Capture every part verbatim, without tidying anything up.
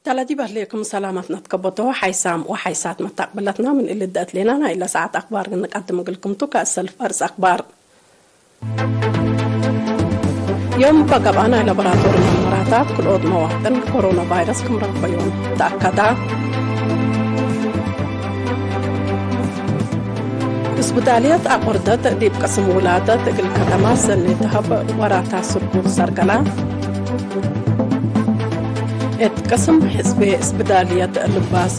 ተለዲብ ህሌኩም ሰላመት ነትከበቶ ሓይሳም ወሓይሳት መታቅብለትና ምን እሊ ደአትሌና ናይለ ሰዓት አክባር ንቀድም እግልኩም ቱ። ከእሰልፍ አርስ አክባር። ዮም በገብአ ናይ ላቦራቶሪ መርመራታት ክልኦት መዋጥን ኮሮና ቫይረስ ክም ረክበዮም ተአከዳ። እስብዳልየት አቁርደት ዲብ ቅስም ውላደት እግል ከተማ ሰኒ ተሀብ ወራታ ስርጉል ሰርገላ። እት ቅስም ሕዝቤ እስብዳልየት ልባስ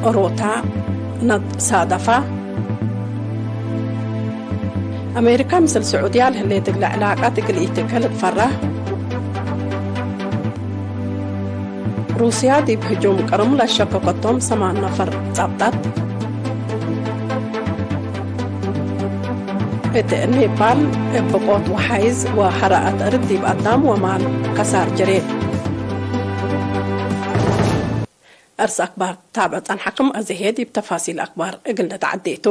ኦሮታ ነሳደፋ። አሜሪካ ምስል ስዑድያ ለህሌት እግለ ዕላቀት እግል ኢትከ ልትፈራህ። ሩስያ ዲብ ህጁም ቅርም ለሸከከቶም ሰማን ነፈር ጸብጠት። እት ኔፓል እብ ብቆት ወሓይዝ ወሐረአት እርድ ዲብ አዳም ወማል ከሳር ጅሬ። አርስ አክባር ታብዕ ጸንሐክም፣ አዜ ህዬ ዲብ ተፋሲል አክባር እግል ነትዐዴ ቱ።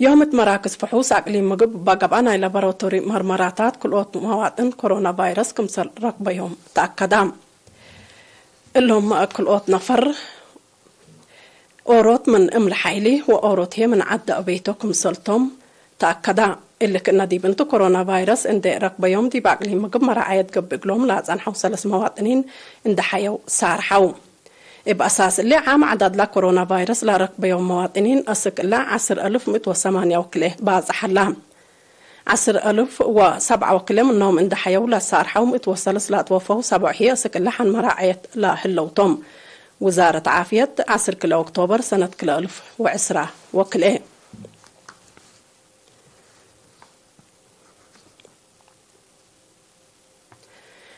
ዮም እት መራክዝ ፍሑስ አቅሊም ምግብ እባ ገብአ ናይ ላቦራቶሪ መርመራታት ክልኦት መዋጥን ኮሮና ቫይረስ ክምሰል ረክበዮም ተአከዳ። እሎም ክልኦት ነፈር ኦሮት ምን እምሊ ሓይሊ ወኦሮት ህዬ ምን ዐድ አቤቶ ክምሰልቶም ተአከዳ። እሊ ክእነ ዲብ እንቱ ኮሮና ቫይረስ እንዴ ረክበዮም ዲብ አቅሊም ምግብ መራዐየት ገብእ እግሎም ለአጸንሐው ሰለስ መዋጥኒን እንዴ ሐየው ሳርሐው። እብ አሳስ እሊ ዓም ዐዳድ ለኮሮና ቫይረስ ለረክበዮም መዋጥኒን አስክ እለ ዐስር አልፍ ምእት ወሰማንያ ወክልኤ ባጽሕ ሀላ። ዐስር አልፍ ወሰብዓ ወክልኤ ምኖም እንዴ ሐየው ለሳርሐው ምእት ወሰለስ ለአትወፈው ሰብዖ ህዬ አስክ እለ ሐን መራዐየት ለህለው ቶም። ውዛረት ዓፍየት ዐስር ክልኤ ኦክቶበር ሰነት ክልኤ አልፍ ወዕስራ ወክልኤ።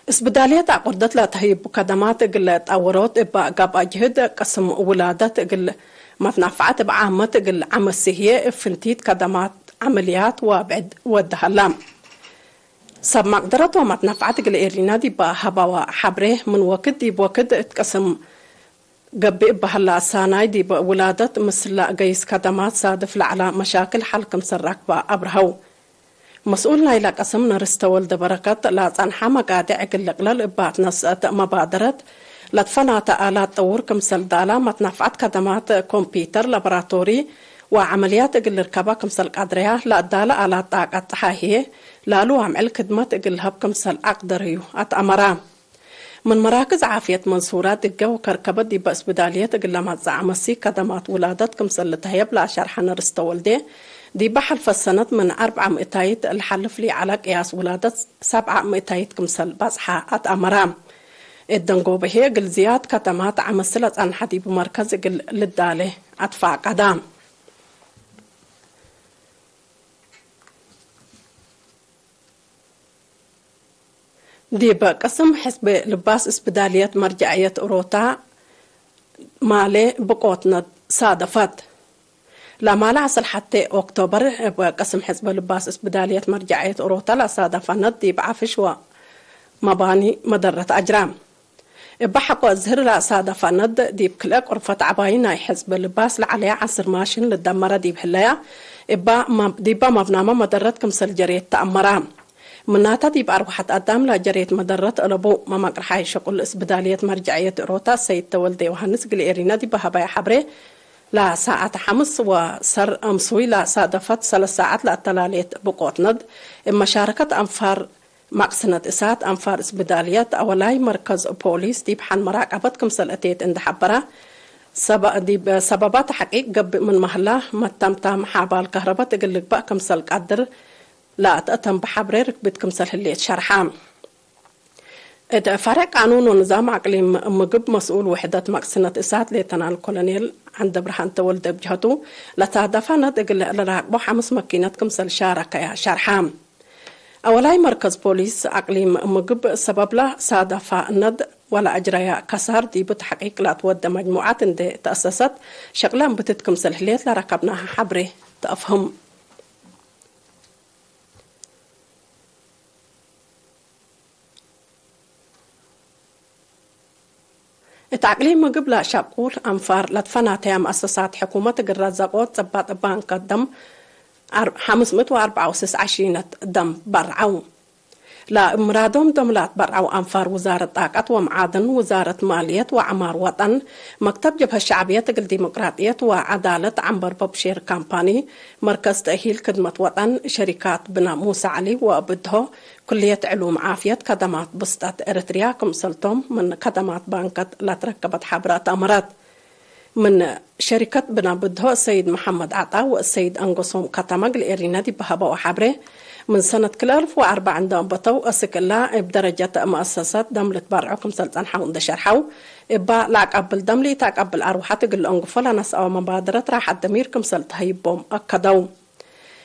እስብዳልየት አቁርደት ለተህይቡ ከደማት እግል ጠውሮት እበ ገብአ ጅህድ ቅስም ውላደት እግል መትናፈዐት እብ ዓመት እግል ዐመሲ ህዬ እብ ፍንቲት ከደማት ዐመልያት ወብዕድ ወደ ሀላ። ሰብ መቅደረት ወመትናፈዐት እግል ኤሪና ዲበ ሀበወ ሐብሬ ምን ወክድ ዲብ ወክድ እት ቅስም ገብእ እበ ሀላ ሳናይ ዲብ ውላደት ምስል ለአገይስ ከደማት ሳድፍ ለዐለ መሻክል ሐል ክምሰል ረክበ አብርሀው። መስኡል ናይለ ቅስም ነርስ ተወልደ በረከት ለአጸንሐ መቃድዕ እግል ልቅለል እበ አትነስአት መባደረት ለትፈናተ አላት ጠውር ክምሰል ዳላ መትናፍዐት ከደማት ኮምፒተር ላቦራቶሪ ወዐመልያት እግል ልርከበ ክምሰል ቀድረያ ለአዳለ አላት ጣቀት ጸሓይ ህዬ ላሉ አምዕል ክድመት እግል ለሀብ ክምሰል አቅደረዩ አትአመራ። ምን መራክዝ ዓፍየት መንሱራ ድገ ወከርከበ ዲበ እስብዳልየት እግል ለመጽእ አመሲ ከደማት ውላደት ክምሰል ልትሀየብ ለአሸርሐ ነርስ ተወልዴ፣ ዲበ ሐልፈ ሰነት ምን አርብዐ ምእታይት ለሐልፍ ለዐለ ቅያስ ውላደት ሰብዐ ምእታይት ክምሰል በጽሐ አትአመራ። እት ደንጎበ ህዬ እግል ዝያድ ከደማት አመሲ ለጸንሐ ዲብ መርከዝ እግል ልዳሌ አትፋቀዳ። ዲብ ቅስም ሕዝብ ልባስ እስብዳልየት መርጀዕየት ኦሮታ ማሌ ብቆትነት ሳደፈት። ለማለ ዐስር ሐቴ ኦክቶበር እብ ቅስም ሕዝብ ልባስ እስብዳልየት መርጀዕየት ኦሮታ ለሳደፈነት ዲብ ዐፍሽ ወመባኒ መደረት አጅራ። እበ ሐቆ እዝህር ለአሳደፈ ነድ፣ ዲብ ክልኤ ቁርፈት ዐባይ ናይ ሕዝብ ልባስ ለዐለየ ዐስር ማሽን ልደመረ ዲብ ህለያ፣ እበ መ-፣ ዲበ መብናመ መደረት ክምሰል ጀሬት ተአመረ። ምናተ ዲብ አርወሐት አዳም ለጀሬት መደረት አለቡ። መመቅርሓይ ሸቁል እስብዳልየት መርጀዕየት እሮታ ሰይድ ተወልደ ዮሐንስ እግል ኤሪና ዲብ ሀበየ ሐብሬ፣ ለሰዓት ሐምስ ወሰር አምሱይ ለሳደፈት ሰለስ ሰዓት ለአተላሌት ብቆት ነድ፣ እብ መሻረከት አንፋር መቅስነት እሳት አንፋር እስብዳልየት አወላይ መርከዝ ፖሊስ ዲብ ሐን መራቀበት ክምሰል አቴት እንዴ ሐበረ፣ ሰበ-፣ ዲብ ሰበባት ተሐቂቅ ገብእ ምን መህላ፣ መተምታም ሓባል ከህረበት እግል ልግበእ ክምሰል ቀድር ለአትአተም በሐብሬ ርክብት ክምሰል ህሌት ሸርሐ። እት ፈሬዕ ቃኑን ወንዛም አቅሊም ምግብ መስኡል ውሕደት መቅስነት እሳት ሌተናል ኮሎኔል ዐንደብርሃን ተወልደ እብ ጀሀቱ፣ ለሳደፈ ነድ እግል ለራቅቦ ሐምስ መኪነት ክምሰል ሻረከያ ሸርሐ። አወላይ መርከዝ ፖሊስ አቅሊም ምግብ ሰበብለ ሳደፈ ነድ ወለአጅረየ ከሳር ዲብ ተሕቂቅ ለአትወደ መጅሙዐት እንዴ ተአሰሰት ሸቅለ እምብትት ክምሰል ህሌት ለረከብናሀ ሐብሬ ተአፍህም። እት አቅሊም ምግብ ለሸቁል አንፋር ለትፈናተያ መአሰሳት ሕኩመት እግል ረዘቆት ጽባጥ ባንከ ደም አር-፣ ሐምስ ምእት ወአርበዓ ወስስ ዐሺነት ደም በርዐው። ለእብ ምራዶም ዶም ለአትበርዐው አንፋር ውዛረት ጣቀት ወመዓድን፣ ውዛረት ማልየት ወዐማር ወጠን፣ መክተብ ጀብሀት ሸዕብየት እግል ዲሞቅራጥየት ወዐዳለት ዐንበር በብሼር ካምፓኒ፣ መርከዝ ተእሂል ክድመት ወጠን፣ ሸሪካት ብነ ሙሳ ዐሊ ወብድሆ፣ ኩልየት ዕሉም ዓፍየት፣ ከደማት ብስጠት ኤረትርያ ክምሰልቶም ምን ከደማት ባንከት ለትረከበት ሐብረት አመረት። ምን ሸሪከት ብነ ብድሆ ሰይድ መሐመድ ዐጣ ወሰይድ አንገሶም ከተመ እግል ኤሪነ ዲብ ሀበው ሐብሬ፣ ምን ሰነት ክልኤ አልፍ ወአርበዕ እንዴ አንበተው አስክ እላ እብ ደረጀት መአሰሰት ደም ልትበርዖ ክምሰል ጸንሐው እንዴ ሸርሐው፣ እባ ለአቀብል ደም ለኢተአቀብል አርወሐት እግል ለአንግፎ ለነስአወ መባደረት ራሐት ደሚር ክምሰል ተሀይቦም አከደው።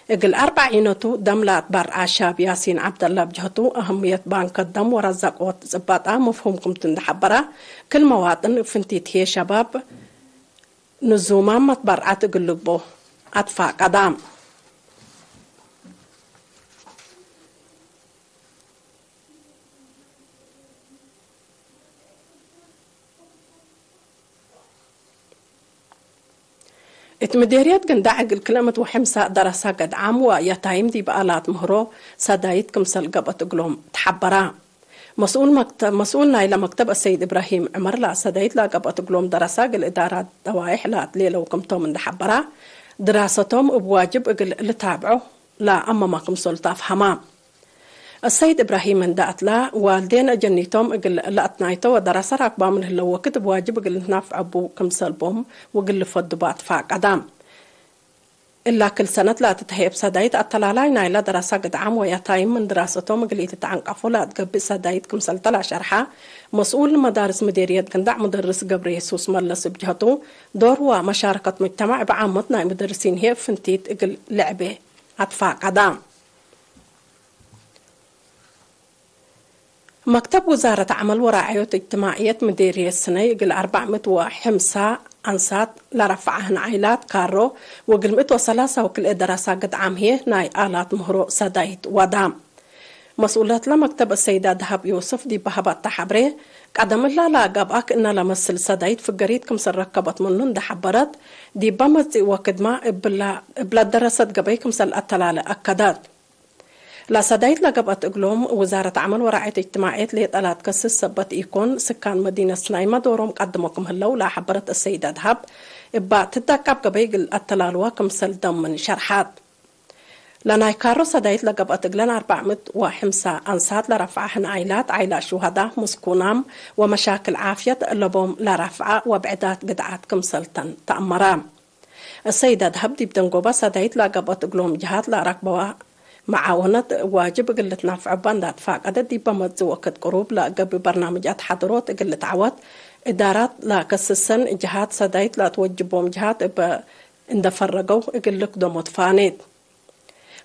እግል አርበዕ ዒነቱ ደም ለአትበርዐ ሻብ ያሲን ዐብደላ እብ ጀህቱ፣ አህምየት ባንከት ደም ወረዘቆት ጽባጣ መፍሁም ክምቱ እንዴ ሐበረ፣ ክል መዋጥን እብ ፍንቲት ህዬ ሸባብ ንዙማም መትበርዐት እግል ልግቦ አትፋቀዳ። እት ምዴርየት ግንዳዕ እግል ክልኤ ምእት ወሐምሳ ደረሰ ገድዓም ወየታይም ዲብ አላት ምህሮ ሰዳይት ክምሰል ገብአት እግሎም ተሐበራ። መስኡል መክተ-፣ መስኡል ናይለ መክተብ አሰይድ እብራሂም ዕመር ለሰዳይት ለገብአት እግሎም ደረሰ እግል እዳራት ደዋይሕ ለአትሌለው ክምቶም እንዴ ሐበራ፣ ድራሰቶም እብ ዋጅብ እግል ልታብዖ ለአመመ ክምሰል ተአፍሀማ። አሰይድ እብራሂም እንደ አትላ፣ ዋልዴን አጀኒቶም እግል ለአትናይቶ ወደረሰ ራክባም ለህለው ወክድ እብ ዋጅብ እግል ልትናፍዐቡ ክምሰል ቦም ወእግል ልፈዱ በአትፋቀዳ። እላ ክል ሰነት ለአትትሀየብ ሰዳይት አተላላይ ናይለ ደረሰ ግድዓም ወያታይም ምን ድራሰቶም እግል ኢትትዐንቀፎ ለአትገብእ ሰዳይት ክምሰልተ ለአሸርሐ መስኡል መዳርስ ምዴርየት ግንዳዕ ሙደርስ ገብረየሱስ መለስ እብ ጀህቱ፣ ዶር ወመሻረከት ሙጅተማዕ እብ ዓመት ናይ ሙደርሲን ህዬ ፍንቲት እግል ልዕቤ አትፋቀዳ። መክተብ ውዛረት ዐመል ወራዕዮት እጅትማዕየት ምዴርየት ስነይ እግል አርበዕ ምእት ወሐምሳ አንሳት ለረፍዐ ህን ዓይላት ካሮ ወእግል ምእት ወሰላሳ ወክልኤ ደረሳ ግድዓም ህዬ ናይ አላት ምህሮ ሰዳይት ወዳ። መስኡለትለ መክተብ አሰይዳ ደሀብ ዮስፍ ዲብ ሀበተ ሐብሬ፣ ቀደም እላ ለገብአ ክእነ ለመስል ሰዳይት ፍገሪት ክምሰል ረከበት ምኑ እንዴ ሐበረት፣ ዲበ መጽእ ወክድመ እብለ፣ እብለ ደረሰት ገበይ ክምሰል አተላለ አከደት። ለሰዳይት ለገብአት እግሎም፣ ውዛረት ዐመል ወራዕየት እጅትማዕየት ሌጠ ለአትከስስ ሰበት ኢኮን፣ ስካን መዲነት ስናይመ ዶሮም ቀድሞ ክም ህለው ለሐበረት አሰይዳ ደሀብ፣ እባ ትዳቃብ ገበይ እግል አተላልዋ ክምሰል ደምን ሸርሐት። ለናይ ካሮ ሰዳይት ለገብአት እግለን አርበዕ ምእት ወሐምሳ አንሳት ለረፍዐ ህን ዓይላት፣ ዓይላት ሹሀዳ፣ ምስኩናም ወመሻክል ዓፍየት ለቦም ለረፍዐ ወብዕዳት ግድዓት ክምሰልተን ተአመረ። አሰይዳ ደሀብ ዲብ ደንጎባ ሰዳይት ለገብአት እግሎም ጀሃት ለአረክበዋ መዓወነት ዋጅብ እግል ልትናፍዐባ እንዴ አትፋቀደት፣ ዲበ መጽእ ወክድ ቅሩብ ለገብእ በርናምጃት ሐድሮት እግል ልትዐወት፣ እዳራት ለከስሰን ጀሃት ሰዳይት ለአትወጅቦም ጀሃት እበ እንዴ ፈረገው እግል ልክደሞ ትፋኔት።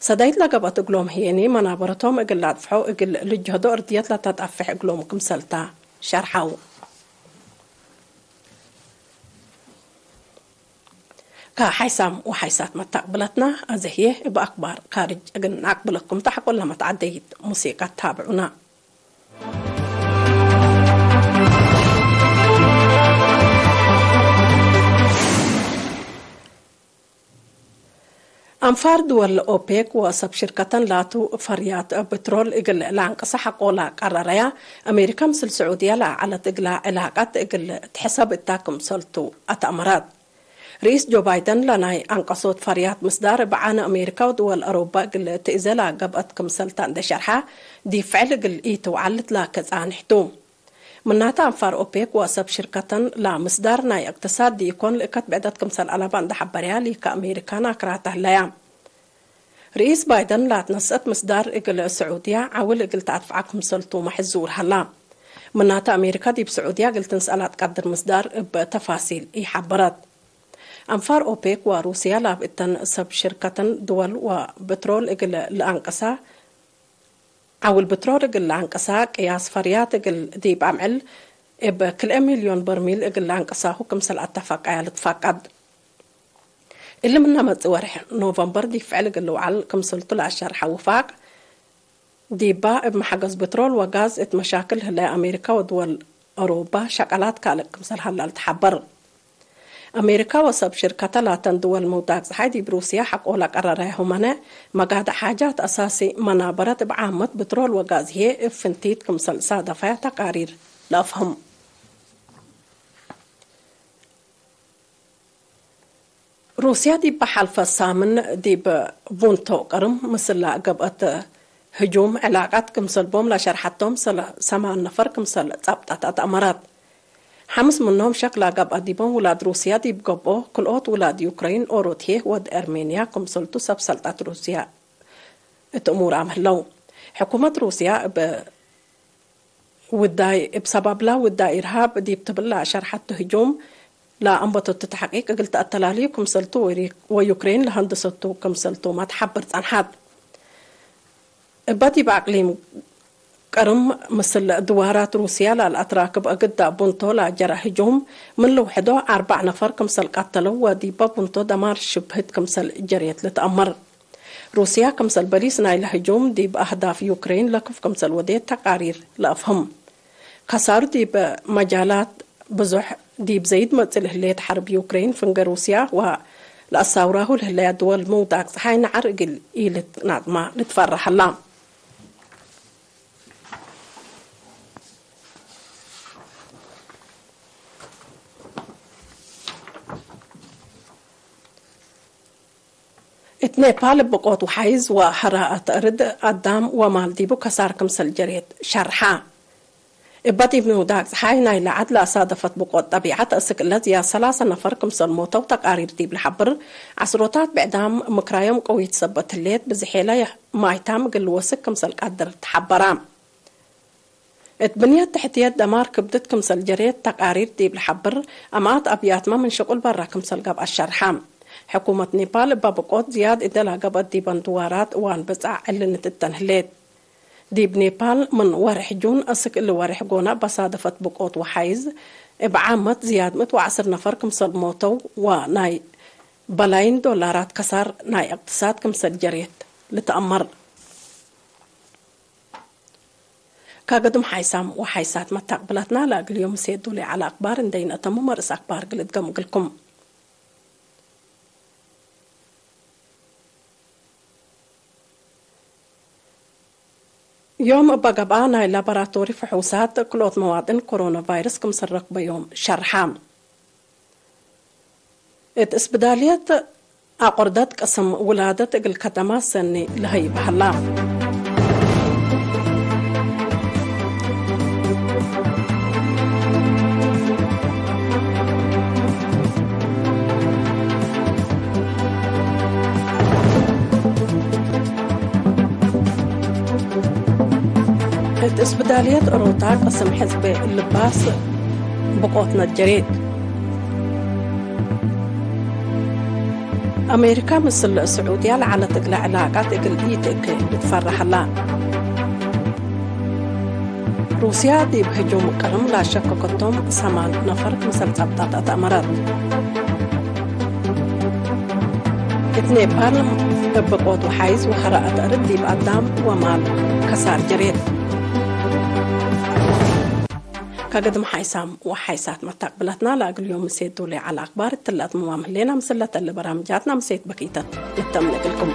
ሰዳይት ለገብአት እግሎም ህዬኒ መናበረቶም እግል ለአጥፍሖ እግል ልጅሀዶ እርድየት ለተጠፍሕ እግሎም ክምሰልታ ሸርሐው። ከሓይሳም ወሓይሳት መታቅብለትና፣ አዜ ህዬ እብ አክባር ካርጅ እግል ነአቅብለኩም ተ። ሐቆለ መትዐደይት ሙሲቀት ታብዑና። አንፋር ድወል ኦፔክ ወሰብ ሽርከተን ላቱ ፈርያት ብትሮል እግል ለአንቅሰ ሐቆ ለቀረረያ፣ አሜሪካ ምስል ስዑድየ ለዐለት እግላ ዕላቀት እግል ትሕሰብ እታ ክምሰልቱ አትአመረት። ርኢስ ጆ ባይደን ለናይ አንቀሶት ፈርያት ምስዳር እብ ዓነ አሜሪካ ወድወል አሮባ እግል ትእዜ ለገብአት ክምሰልታ እንዴ ሸርሐ፣ ዲብ ፍዕል እግል ኢትውዓል ልትላከ ጻንሕ ቱ። ምናተ አንፋር ኦፔክ ወሰብ ሽርከተን ለምስዳር ናይ እቅትሳድ ዲኢኮን ልእከት ብዕደት ክምሰል አለበ እንዴ ሐበርያ፣ ሊከ አሜሪካን አክራተ ህለያ። ርኢስ ባይደን ለአትነስአት ምስዳር እግል ስዑድያ ዐውል እግል ተአድፍዐ ክምሰልቱ መሕዙር ሀላ። ምናተ አሜሪካ ዲብ ስዑድያ እግል ትንስአ ለአትቀድር ምስዳር እብ ተፋሲል ኢሐበረት። አንፋር ኦፔክ ወሩስያ ላብ እተን ሰብ ሽርከተን ድወል ወብትሮል እግል ለአንቅሳ ዐውል ብትሮል እግል ለአንቅሳ ቅያስ ፈርያት እግል ዲብ አምዕል እብ ክልኤ ሚልዮን በርሚል እግል ለአንቅሳሁ ክምሰል አተፋቀያ ልትፋቀድ። እሊ ምነ መጽእ ወርሕ ኖቨምበር ዲብ ፍዕል እግል ልውዓል ክምሰልቱ ለአሸርሐ ውፋቅ፣ ዲባ እብ መሐገዝ ብትሮል ወጋዝ እት መሻክል ህለ አሜሪካ ወድወል አውሮባ ሸቀላት ካልእ ክምሰል ሀላ ልትሐበር። አሜሪካ ወሰብ ሽርከተ ላተን ድወል ምውዳቅ ጸሓይ ዲብ ሩስያ ሐቆ ለቀረረ ሁመነ፣ መጋድዕ ሓጃት አሳሲ መናበረት እብ ዓመት ብትሮል ወጋዝ ህዬ እብ ፍንቲት ክምሰል ሳደፈ ተቃሪር ለአፍህም። ሩስያ ዲብ ሐልፈ ሳምን ዲብ ቡንቶ ቅርም ምስላ ገብአት ህጁም ዕላቃት ክምሰል ቦም ለሸርሐቶም ሰለ-፣ ሰማን ነፈር ክምሰል ጸብጠት አትአመረት። ሐምስ ምኖም ሸክ ለገብአ ዲቦም ውላድ ሩስያ ዲብ ገብኦ፣ ክልኦት ውላድ ዩክረይን፣ ኦሮት ህዬ ወድ አርሜንያ ክምሰልቱ ሰብ ሰልጠት ሩስያ እት እሙራም ህለው። ሕኩመት ሩስያ እብ ውዳይ፣ እብ ሰባብላ ውዳይ ኢርሃብ ዲብ ትብል ለሸርሐቱ ህጁም ለአንበተቱ ተሕቂቅ እግል ተአተላልዩ ክምሰልቱ ወሪ-፣ ወዩክሬን ለሀንድሰቱ ክምሰልቱመ ተሐብር ጸንሐት። እበ ዲብ አቅሊም ቅርም ምስል ድዋራት ሩስያ ላልአትራክብ እግዳ ቡንቶ ለጀረ ህጁም ምን ልውሕዶ አርበዕ ነፈር ክምሰል ቀተለው ወዲበ ቡንቶ ደማር ሽብህት ክምሰል ጀርየት ልትአመር። ሩስያ ክምሰል በሊስ ናይለ ህጁም ዲብ አህዳፍ ዩክሬን ለክፍ ክምሰል ወዴት ተቃሪር ለአፍህም። ከሳሩ ዲብ መጃላት ብዙሕ ዲብ ዘይድ መጽእ ለህሌት ሐርብ ዩክሬን፣ ፍንገ ሩስያ ወለአሳውራሁ ለህለያ ድወል ምውዳቅ ጸሓይ ነዐር እግል ኢልትናጥማ ልትፈረህ ሀላ። እት ኔፓል ብቆት ወሓይዝ ወሐራአት እርድ አዳም ወማል ዲቡ ከሳር ክምሰል ጀሬት ሸርሐ። እበ ዲብ ምውዳቅ ጸሓይ ናይለ ዐድ ለአሳደፈት ብቆት ጠቢዐት እስክ እለ ዝያድ ሰላሰ ነፈር ክምሰል ሞተው ተቃሪር ዲብ ለሐብር፣ ዐስሮታት ብዕዳም ምክራዮም ቀዊት ሰበት ህሌት፣ ብዝሔለ ማይታም እግል ልወስክ ክምሰል ቀድር ተሐበራ። እት ብንየት ተሕትየት ደማር ክብድት ክምሰል ጀሬት ተቃሪር ዲብ ለሐብር፣ አምኣት አብያትመ ምን ሽቁል በረ ክምሰል ገብአት ሸርሐ። ሕኩመት ኔፓል እበ ብቆት ዝያድ እደ ለገብአት ዲበን ድዋራት እዋን ብጻዕ ዕልንት እተን ህሌት። ዲብ ኔፓል ምን ወርሕ ጁን እስክ እሊ ወርሕ ጎነ በሳደፈት ብቆት ወሓይዝ፣ እብ ዓመት ዝያድ ምእት ወዐስር ነፈር ክምሰል ሞተው ወናይ በላይን ዶላራት ከሳር ናይ እቅትሳድ ክምሰል ጀሬት ልትአመር። ከገድም ሓይሳም ወሓይሳት መታቅብላትና ለእግል ዮም ሴዱ ለዐለ አክባር እንዴ ነአተሙ መርእስ አክባር እግል እድገም እግልኩም። ዮም እበ ገብአ፣ ናይ ላቦራቶሪ ፍሑሳት ክልኦት መዋጥን ኮሮና ቫይረስ ክምሰል ረክበዮም ሸርሐ። እት እስብዳልየት አቆርደት ቅስም ውላደት እግል ከደማት ሰኒ ለሀይብ ሀላ። እት እስብዳልየት ኦሮታ ቅስም ሕዝብ ልባስ ብቆት ነጀሬት። አሜሪካ ምስል ስዑድያ ለዐለት እግለ ዕላቃት እግል ኢትእኬ ልትፈረሐላ። ሩስያ ዲብ ህጁም ቅርም ላሸከከቶም ሰማን ነፈር ክምሰል ጸብጠት አትአመረት። እት ኔፓል እብ ብቆት ወሓይዝ ወሐራአት አርድ ዲብ አዳም ወማል ከሳር ጀሬት። ከገድም ሓይሳም ወሓይሳት መታቅብለትና ለእግል ዮም ምሴት ዶል ዐለ አክባር እትለ አትምማም ህሌና። ምስለ ተለ በራምጃትና ምሴት በኪተት ልተምነ እግልኩም።